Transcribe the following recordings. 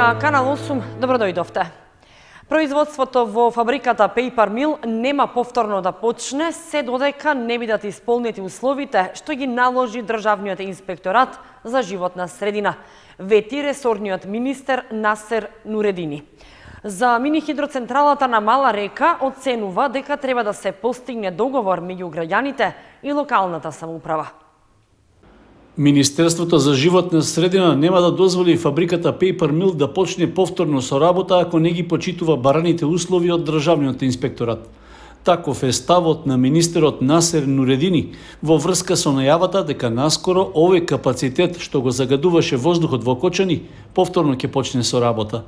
на Канал 8, добродојдовте. Производството во фабриката Paper Mill нема повторно да почне, се додека не бидат исполнети условите што ги наложи Државниот инспекторат за животна средина, вети ресорниот министер Насер Нуредини. За мини-хидроцентралата на Мала река оценува дека треба да се постигне договор меѓу граѓаните и локалната самоуправа. Министерството за животна средина нема да дозволи фабриката Paper Mill да почне повторно со работа ако не ги почитува бараните услови од Државниот инспекторат. Таков е ставот на министерот Насер Нуредини во врска со најавата дека наскоро овој капацитет што го загадуваше воздухот во Кочани повторно ќе почне со работа.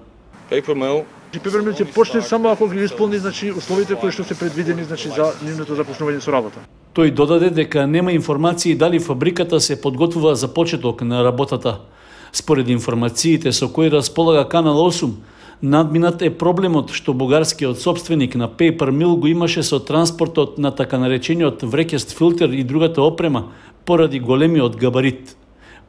Paper Mill ќе почне само ако ги исполни условите кои што се предвидени за нивното започнување со работа. Тој додаде дека нема информации дали фабриката се подготвува за почеток на работата. Според информациите со кои располага Канал 8, надминат е проблемот што бугарскиот собственик на Paper Mill го имаше со транспортот на така наречениот врекест филтер и другата опрема поради големиот габарит.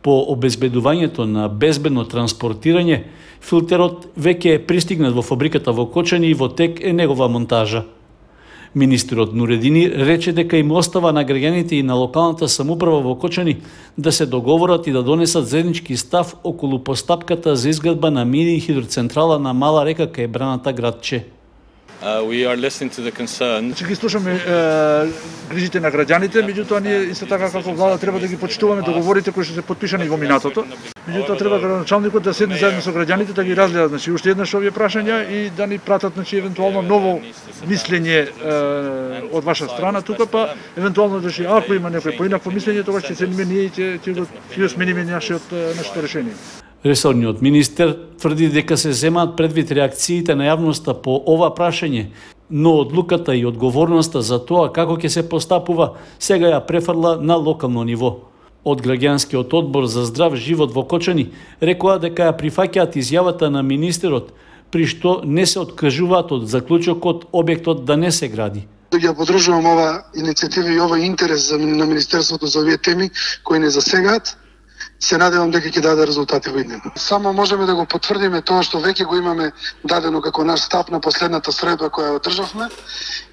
По обезбедувањето на безбедно транспортирање, филтерот веќе е пристигнат во фабриката во Кочани и во тек е негова монтажа. Министерот Нуредини рече дека им остава на граѓаните и на локалната самоуправа во Кочани да се договорат и да донесат заеднички став околу постапката за изградба на мини хидроцентрала на Мала река кај браната градче. We are listening to the concerns. Ги слушаме грижите на граѓаните, меѓутоа ние исто така како влада треба да ги почитуваме договорите кои што се потпишани во минатото. Меѓутоа треба градоначалникот да седне заедно со граѓаните да ги разгледа уште еднаш овие прашања и да ни пратат евентуално ново мислење од ваша страна тука, па евентуално ако има некој поинакво мислење, тогаш ќе седнеме ние и ќе го смениме нашето решение. Ресорниот министер тврди дека се земаат предвид реакциите на јавноста по ова прашање, но одлуката и одговорноста за тоа како ќе се постапува сега ја префрла на локално ниво. Од граѓанскиот одбор за здрав живот во Кочани рекоа дека ја прифаќаат изјавата на министерот, при што не се откажуваат од заклучокот објектот да не се гради. Ја поддржувам ова иницијатива и овој интерес на министерството за овие теми кои не засегаат. Се надевам дека ќе даде резултати во иднина. Само можеме да го потврдиме тоа што веќе го имаме дадено како наш став на последната средба која одржавме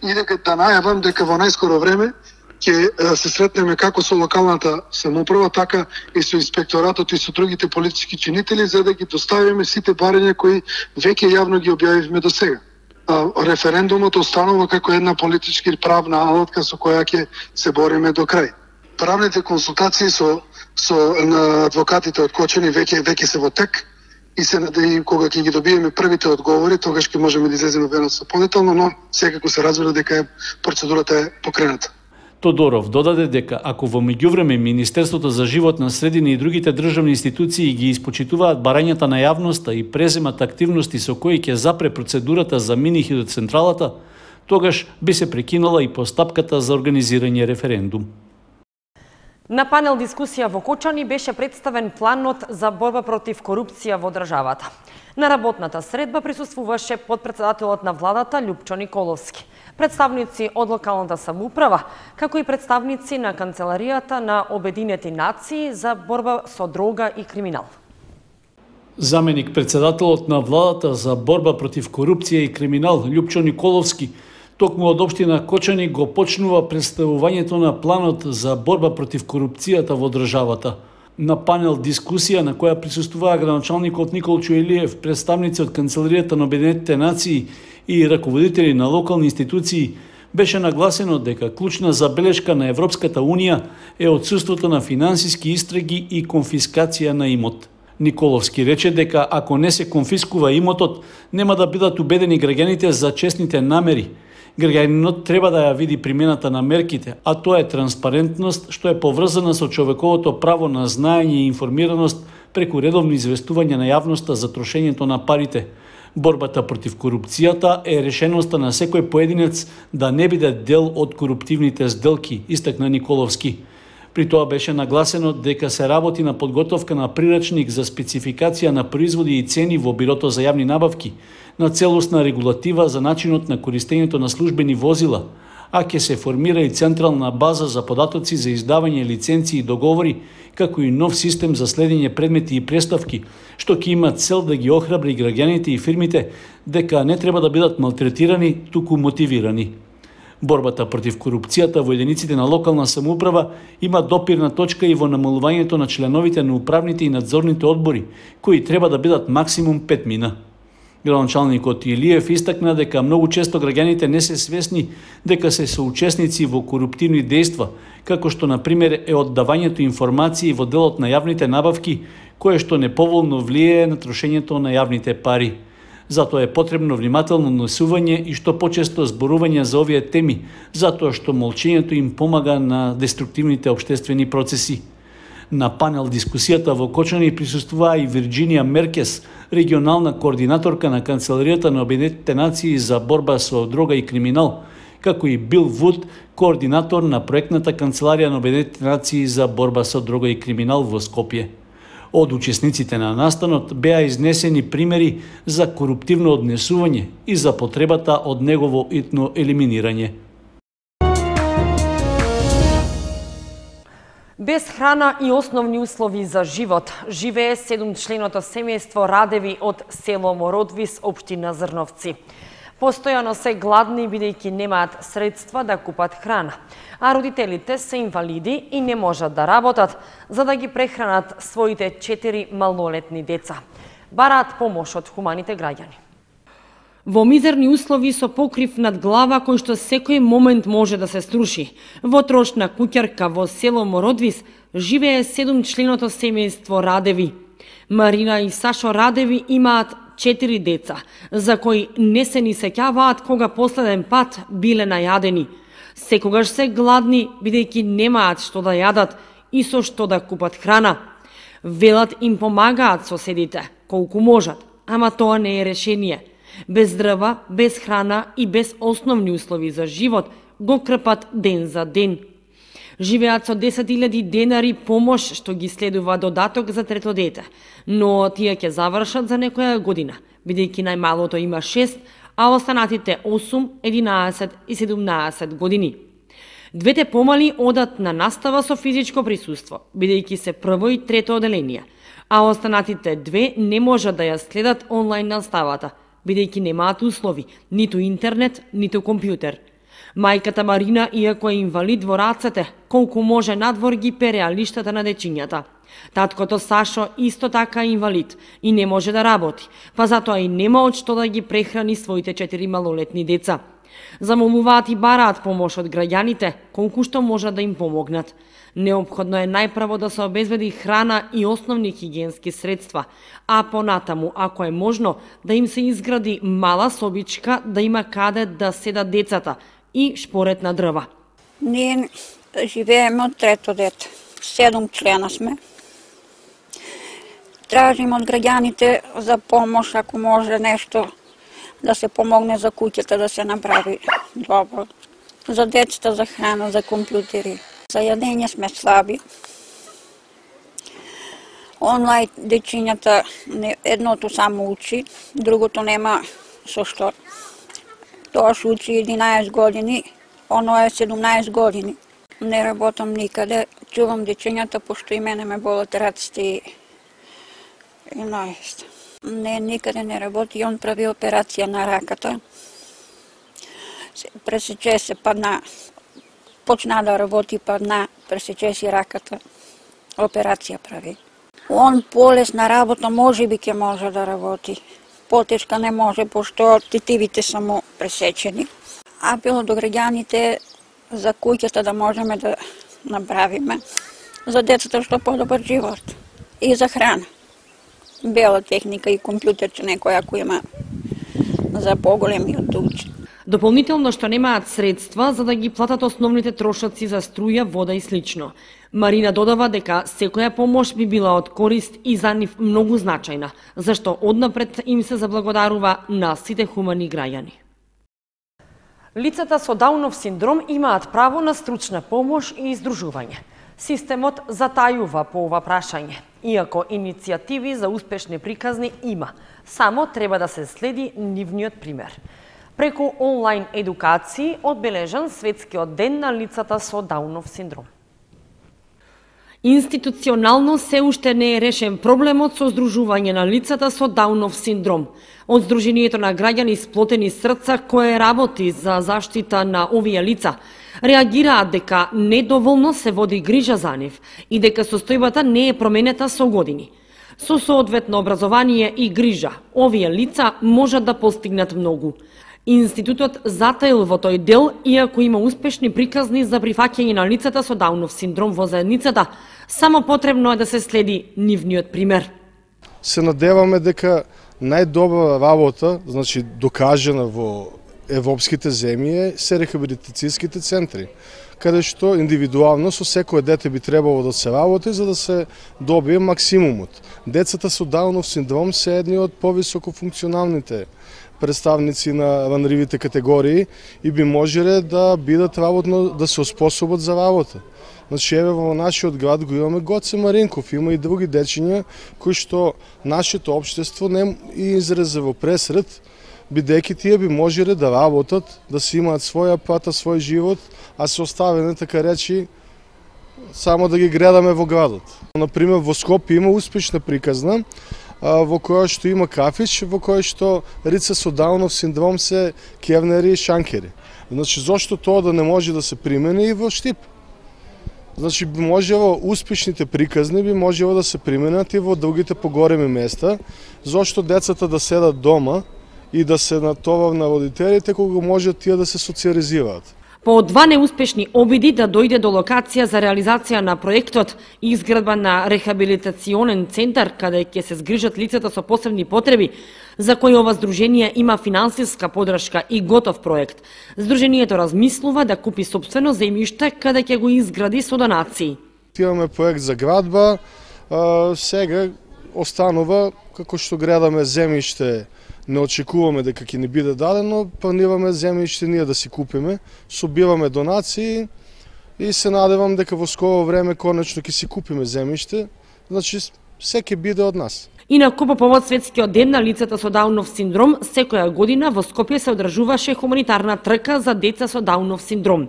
и дека да најавам дека во најскоро време ќе се сретнеме како со локалната самоуправа, така и со инспекторатот и со другите политички чинители за да ги доставиме сите барања кои веќе јавно ги објавивме до сега. Референдумот останува како една политички правна алатка со која ќе се бориме до крај. Правните консултации со на адвокатите од Кочани веќе се во тек и кога ќе ги добиеме првите одговори, тогаш ќе можеме да излеземе веднаш со подетално, но секако се разбира дека процедурата е покрената. Тодоров додаде дека ако во меѓувреме Министерството за животна средина и другите државни институции ги испочитуваат барањата на јавноста и преземат активности со кои ќе запре процедурата за мини хидроцентралата, тогаш би се прекинала и постапката за организирање референдум. На панел дискусија во Кочани беше представен планот за борба против корупција во државата. На работната средба присуствуваше подпредседателот на владата Љупчо Николовски, представници од локалната самоуправа, како и представници на Канцеларијата на Обединети нации за борба со дрога и криминал. Заменик председателот на владата за борба против корупција и криминал Љупчо Николовски токму од општина Кочани го почнува представувањето на планот за борба против корупцијата во државата. На панел дискусија на која присуствуваа градоначалникот Николчо Илиев, представници од Канцеларијата на Обединетите нации и раководители на локални институции, беше нагласено дека клучна забелешка на Европската Унија е отсуството на финансиски истраги и конфискација на имот. Николовски рече дека ако не се конфискува имотот, нема да бидат убедени граѓаните за честните намери. Граѓанинот треба да ја види примената на мерките, а тоа е транспарентност што е поврзана со човековото право на знаење и информираност преку редовно известување на јавноста за трошењето на парите. Борбата против корупцијата е решеноста на секој поединец да не биде дел од коруптивните сделки, истакна Николовски. При тоа беше нагласено дека се работи на подготовка на прирачник за спецификација на производи и цени во Бирото за јавни набавки, на целосна регулатива за начинот на користењето на службени возила, а ќе се формира и централна база за податоци за издавање лиценци и договори, како и нов систем за следење предмети и преставки, што ќе има цел да ги охрабри граѓаните и фирмите дека не треба да бидат малтретирани, туку мотивирани. Борбата против корупцијата во единиците на локална самоуправа има допирна точка и во намалувањето на членовите на управните и надзорните одбори, кои треба да бидат максимум 5 Градоначалникот Илиев истакна дека многу често граѓаните не се свесни дека се соучесници во коруптивни дејства, како што на пример е оддавањето информации во делот на јавните набавки, кое што неповолно влијае на трошењето на јавните пари. Затоа е потребно внимателно однесување и што почесто зборување за овие теми, затоа што молчењето им помага на деструктивните општествени процеси. На панел дискусијата во Кочани присуствува и Вирџинија Меркес, регионална координаторка на Канцеларијата на Обединетите нации за борба со дрога и криминал, како и Бил Вуд, координатор на проектната Канцеларија на Обединетите нации за борба со дрога и криминал во Скопје. Од учесниците на настанот беа изнесени примери за коруптивно однесување и за потребата од негово итно елиминирање. Без храна и основни услови за живот живее 7-членото семејство Радеви од село Мородвис, општина Зрновци. Постојано се гладни бидејќи немаат средства да купат храна, а родителите се инвалиди и не можат да работат за да ги прехранат своите 4 малолетни деца. Бараат помош од хуманите граѓани. Во мизерни услови со покрив над глава кој што секој момент може да се струши, во трошна куќарка во село Мородвис живее 7-членото семејство Радеви. Марина и Сашо Радеви имаат 4 деца, за кои не се ни сеќаваат кога последен пат биле најадени. Секогаш се гладни, бидејќи немаат што да јадат и со што да купат храна. Велат им помагаат соседите, колку можат, ама тоа не е решение. Без дрва, без храна и без основни услови за живот го крпат ден за ден. Живеат со 10.000 денари помош што ги следува додаток за трето дете, но тие ќе завршат за некоја година, бидејќи најмалото има 6, а останатите 8, 11 и 17 години. Двете помали одат на настава со физичко присуство, бидејќи се прво и трето оделение, а останатите 2 не можат да ја следат онлайн наставата, бидејќи немаат услови, ниту интернет, ниту компјутер. Мајката Марина, иако е инвалид во рацете, колку може надвор ги пере лиштата на дечињата. Таткото Сашо исто така е инвалид и не може да работи, па затоа и нема од што да ги прехрани своите 4 малолетни деца. Замолуваат и бараат помош од граѓаните, колку што можат да им помогнат. Неопходно е најпрво да се обезбеди храна и основни хигиенски средства, а понатаму, ако е можно, да им се изгради мала собичка да има каде да седат децата и шпорет на дрва. Ние живееме од трето дете. 7 члена сме. Тражим од граѓаните за помош, ако може нешто да се помогне за куќата, да се направи добро. За децата, за храна, за компјутери. За јадење сме слаби. Онлайн дечињата едното само учи, другото нема со што. Тоа што учи 11 години, оно е 17 години. Не работам никаде, чувам дечињата, пошто и мене ме болат раците и нојест. Не, никаде не работи, он прави операција на раката. Пресече се, падна, почна да работи, падна, пресече си раката, операција прави. Он полесна работа може би ќе може да работи. Потешка не може, пошто тетивите са му пресечени. Апел до граѓаните за куќата да можеме да направиме, за децата што подобар живот и за храна. Бела техника и компјутерче некој ако има за поголемиот да учи. Дополнително што немаат средства за да ги платат основните трошоци за струја, вода и слично. Марина додава дека секоја помош би била од корист и за нив многу значајна, зашто однапред им се заблагодарува на сите хумани граѓани. Лицата со Даунов синдром имаат право на стручна помош и издружување. Системот затајува по ова прашање, иако иницијативи за успешни приказни има, само треба да се следи нивниот пример. преку онлайн едукации одбележан светскиот ден на лицата со Даунов синдром. Институционално се уште не е решен проблемот со здружување на лицата со Даунов синдром. Од Сдруженијето на граѓани Сплотени срца, кое работи за заштита на овие лица, реагираат дека недоволно се води грижа за нив и дека состојбата не е променета со години. Со соодветно образование и грижа, овие лица можат да постигнат многу. Институтот затаил во тој дел, иако има успешни приказни за прифаќање на лицата со Даунов синдром во заедницата, само потребно е да се следи нивниот пример. Се надеваме дека најдобра работа, значи докажена во европските земји, се рехабилитацијските центри, каде што индивидуално со секое дете би требало да се работи за да се добие максимумот. Децата со Даунов синдром се едни од повисоко функционалните представници на ранливите категории и би можеле да бидат работно, да се оспособат за работа. Значи, еве во нашиот град го имаме Гоце Маринков, има и други дечиња кои што нашето општество не изрезе во пресред, бидејќи тие би можеле да работат, да си имаат своја пата, свој живот, а се оставени, така речи, само да ги гледаме во градот. Например, во Скопје има успешна приказна, во која што има кафич, во која што лица со Даунов синдром се кевнери и шанкери. Значи, зошто тоа да не може да се примени и во Штип? Значи, би можело успешните приказни би можело да се применат и во другите поголеми места, зошто децата да седат дома и да се натовар на родителите кога можат тие да се социализираат. По два неуспешни обиди да дојде до локација за реализација на проектот и изградба на рехабилитационен центар каде ќе се згрижат лицата со посебни потреби, за кои ова здружение има финансиска подршка и готов проект, здружението размислува да купи сопствено земјиште каде ќе го изгради со донации. Имаме проект за градба, сега останува како што гледаме земјиште. Не очекуваме дека ќе ни биде дадено, планираме земјиште ние да си купиме, собираме донации и се надевам дека во скоро време конечно ќе си купиме земјиште, значи се ќе биде од нас. Инаку по повод светскиот ден на лицата со Даунов синдром, секоја година во Скопје се одржуваше хуманитарна трка за деца со Даунов синдром.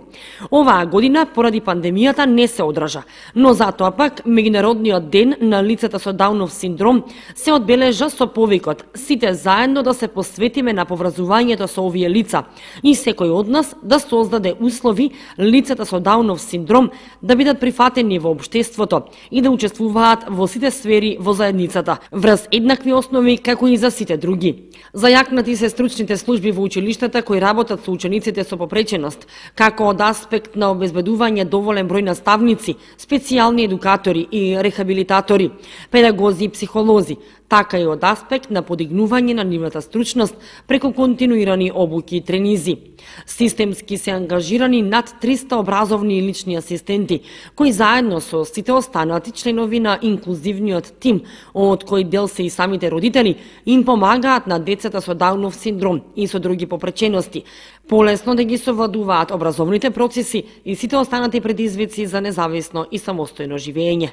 Оваа година поради пандемијата не се одржа, но затоа пак меѓународниот ден на лицата со Даунов синдром се одбележа со повикот сите заедно да се посветиме на поврзувањето со овие лица и секој од нас да создаде услови лицата со Даунов синдром да бидат прифатени во општеството и да учествуваат во сите сфери во заедницата, врз еднакви основи како и за сите други. Зајакнати се стручните служби во училиштата кои работат со учениците со попреченост, како од аспект на обезбедување доволен број наставници, специјални едукатори и рехабилитатори, педагози и психолози, така и од аспект на подигнување на нивната стручност преку континуирани обуки и тренизи. Системски се ангажирани над 300 образовни и лични асистенти, кои заедно со сите останати членови на инклузивниот тим, од кој дел се и самите родители, им помагаат на децата со Даунов синдром и со други попречености, полесно да ги совладуваат образовните процеси и сите останати предизвици за независно и самостојно живење.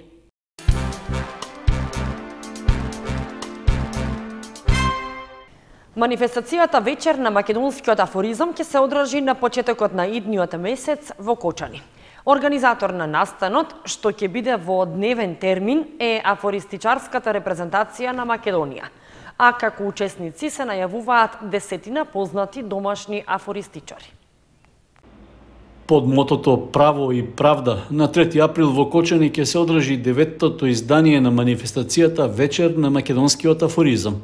Манифестацијата вечер на македонскиот афоризам ќе се одржи на почетокот на идниот месец во Кочани. Организатор на настанот, што ќе биде во дневен термин, е афористичарската репрезентација на Македонија, а како учесници се најавуваат 10 познати домашни афористичари. Под мотото Право и правда, на 3 април во Кочани ќе се одржи 9-тото издание на манифестацијата Вечер на македонскиот афоризам.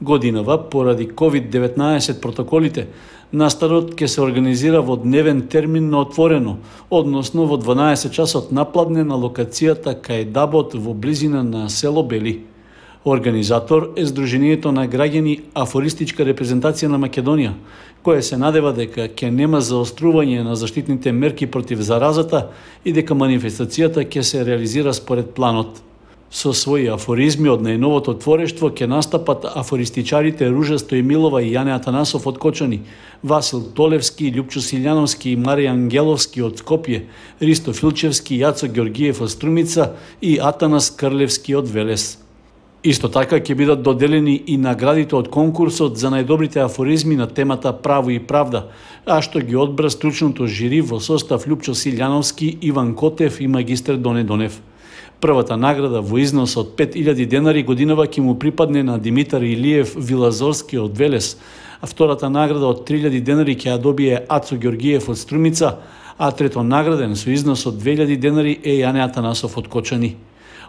Годинава, поради COVID-19 протоколите, настанот ќе се организира во дневен термин на отворено, односно во 12 часот напладне на локацијата кај Дабот во близина на село Бели. Организатор е Сдруженијето на граѓани Афористичка репрезентација на Македонија, кое се надева дека ќе нема заострување на заштитните мерки против заразата и дека манифестацијата ќе се реализира според планот. Со своји афоризми од најновото творештво ќе настапат афористичарите Ружа Стојмилова и Јане Атанасов од Кочани, Васил Толевски, Љупчо Силјановски и Марија Ангеловски од Скопје, Ристо Филчевски, Јацо Ѓоргиев од Струмица и Атанас Крлевски од Велес. Исто така ќе бидат доделени и наградите од конкурсот за најдобрите афоризми на темата Право и правда, а што ги одбра стручното жири во состав Лјупчо Силјановски, Иван Котев и магистер Доне Донев. Првата награда во износ од 5000 денари годинава ќе му припадне на Димитар Илиев Вилазорски од Велес, а втората награда од 3000 денари ќе ја добие Ацо Ѓоргиев од Струмица, а трето награден со износ од 2000 денари е Јане Атанасов од Кочани.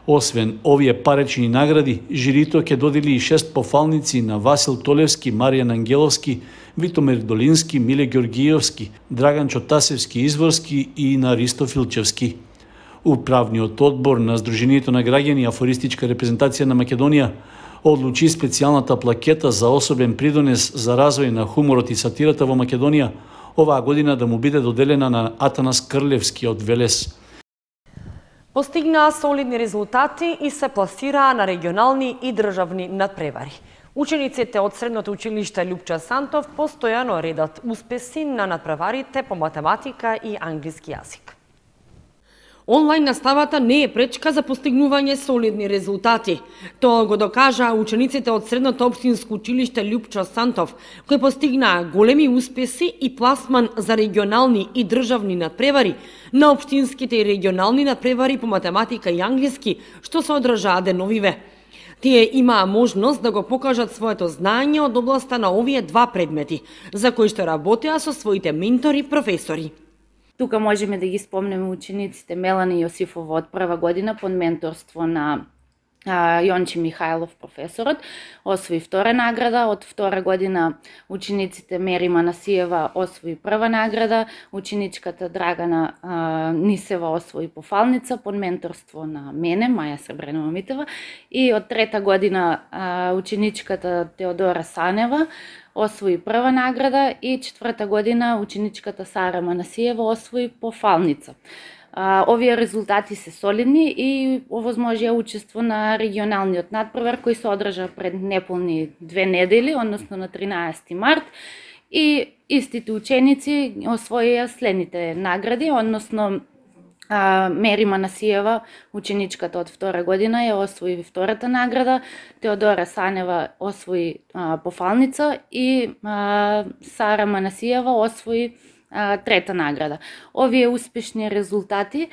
Освен овие парични награди, жирито ќе додели и 6 пофалници на Васил Толевски, Маријан Ангеловски, Витомир Долински, Миле Ѓоргиевски, Драган Чотасевски Изворски и на Ристо Филчевски. Управниот одбор на Сдруженијето на граѓани Афористичка репрезентација на Македонија одлучи специјалната плакета за особен придонес за развој на хуморот и сатирата во Македонија оваа година да му биде доделена на Атанас Крлевски од Велес. Постигнаа солидни резултати и се пласираа на регионални и државни надпревари. Учениците од Средното училиште Лјупчо Сантов постојано редат успеси на надпреварите по математика и англиски јазик. Онлайн наставата не е пречка за постигнување солидни резултати. Тоа го докажаа учениците од Средното општинско училиште Лјупчо Сантов, кои постигнаа големи успеси и пласман за регионални и државни надпревари на општинските и регионални надпревари по математика и англиски, што се одржаа деновиве. Тие имаа можност да го покажат своето знаење од областа на овие два предмети, за кои што работеа со своите ментори професори. Тука можеме да ги спомнеме учениците Мелани Јосифова од прва година под менторство на Јончи Михајлов професорот, освои втора награда, од втора година учениците Мери Манасиева освои прва награда, ученичката Драгана Нисева освои пофалница под менторство на мене, Маја Сребренова Митева, и од трета година ученичката Теодора Санева освои прва награда и четврта година ученичката Сара Манасиева освои пофалница. Овие резултати се солидни и овозможија учество на регионалниот надпревар кој се одржа пред неполни 2 недели, односно на 13 март, и истите ученици освоија следните награди, односно Мери Манасиева, ученичката од втора година, ја освои втората награда, Теодора Санева освои пофалница и Сара Манасиева освои трета награда. Овие успешни резултати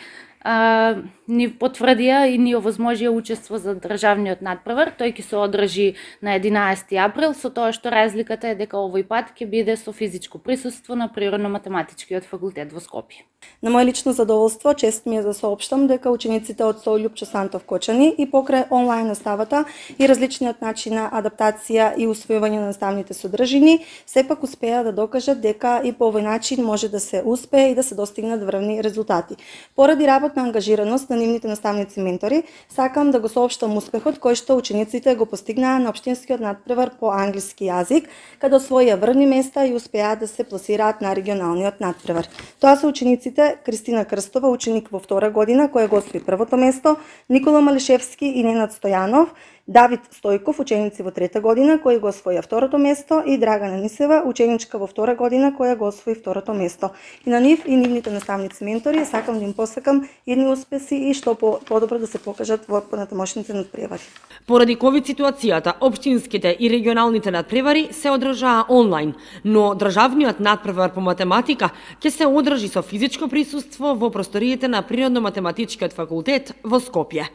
ни потврдија и ни овозможија учество за државниот надпревар. Тој ќе се одржи на 11 април, со тоа што разликата е дека овој пат ќе биде со физичко присуство на Природно-математичкиот факултет во Скопје. На моје лично задоволство, чест ми е да соопштам дека учениците од СОУ Лјупчо Сантов Кочани и покрај онлайн наставата и различниот начин на адаптација и усвојување на наставните содржини, сепак успеа да докажат дека и по овој начин може да се успее и да се достигнат врвни резултати. Поради работна ангажираност на нивните наставници ментори, сакам да го соопштам успехот кој што учениците го постигнаа на општинскиот надпревар по англиски јазик, каде освоија врвни места и успеа да се пласираат на регионалниот надпревар. Тоа се учениците Кристина Крстова, ученик во втора година, која го освои првото место, Никола Малишевски и Ненад Стојанов, Давид Стојков, ученици во трета година, кој го освоја второто место, и Драгана Нисева, ученичка во втора година, која го освои второто место. И на нив и нивните наставници ментори сакам да им посакам идни успеси и што подобро да се покажат во понатамошните надпревари. Поради ковид ситуацијата, општинските и регионалните надпревари се одржаа онлайн, но државниот надпревар по математика ќе се одржи со физичко присуство во просториите на Природно-математичкиот факултет во Скопје.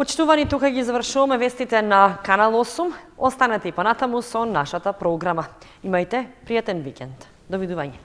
Почитувани, тука ги завршуваме вестите на Канал 8. Останете и понатаму со нашата програма. Имајте пријатен викенд. Довидување.